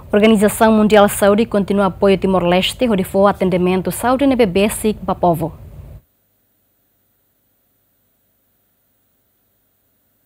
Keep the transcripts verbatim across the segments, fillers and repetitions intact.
Organizasaun Mundiál Saúde kontinua apoia Timor-Leste hodi fó atendimentu saúde ne'ebé besik ba povu.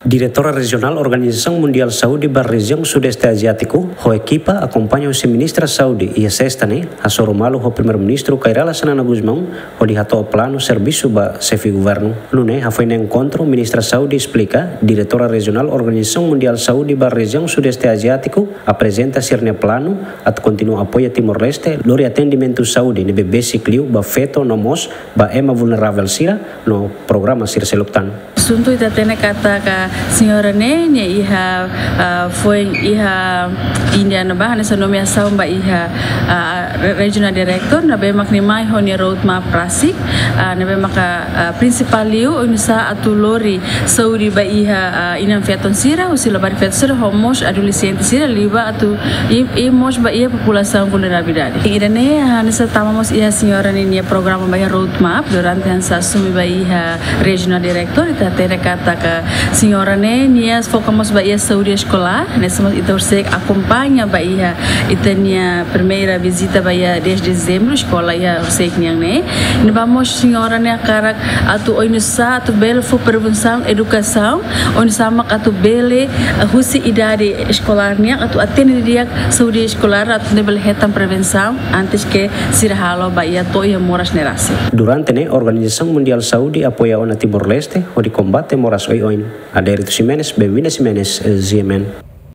Diretora Rejionál Organizasaun Mundiál Saúde ba rejiaun Sudeste Aziátiku, ho ekipa akompaña husi Ministra Saúde iha sesta ne'e, hasoru malu ho Primeiru-Ministru Kay Rala Xanana Gusmão, hodi hato'o planu servisu ba Xefe Governu. Nune'e, hafoin enkontru, Ministra Saúde esplika, Diretora Rejionál Organizasaun Mundiál Saúde ba rejiaun Sudeste Aziátiku aprezenta sira-nia planu atu kontinua apoia Timor-Leste lori atendimentu saúde ne'ebé besik liu ba feto no mós ba ema vulneravel sira no programa sira seluk tan. Asuntu ita hatene katak señora ne'e, nia iha, ah, foin iha Índia ne'ebá, hanesan nomeasaun ba iha, ah, re-, Regional Director, ne'ebé mak nia mai ho nia roadmap rasik, ah, ne'ebé maka, ah, prinsipál liu, oinsá atu lori saúde ba iha, ah, inan-feton sira, husi labarik-feton sira, ho mós adolexente sira, liu ba atu i, i mós ba iha populasaun vulnerabilidade. Ida-ne'e, ah, hanesan tama mós iha señora ne'e nia programa ba iha roadmap, durante hanesan asume ba iha Regional Director, ita hatene katak señora ne'e, nia foka mós ba iha saúde eskolár, hanesan mós ita horiseik akompaña ba iha ita-nia primeira vizita ba iha dez de Dezembru, eskola iha horiseik nian ne'e. Ne'ebá mós señora ne'e hakarak atu oinsá atu bele fó prevensaun, edukasaun, oinsá mak atu bele, eh, husi idade eskolár nian atu atende didi'ak saúde eskolár atu nune'e bele hetan prevensaun antes ke sira halo ba iha to'o iha moras ne'e rasik. Durante ne'e, Organizasaun Mundiál Saúde apoia ona Timor-Leste hodi kombate moras oioin. Adérito Ximenes, Benvinda Ximenes, eh, G M N.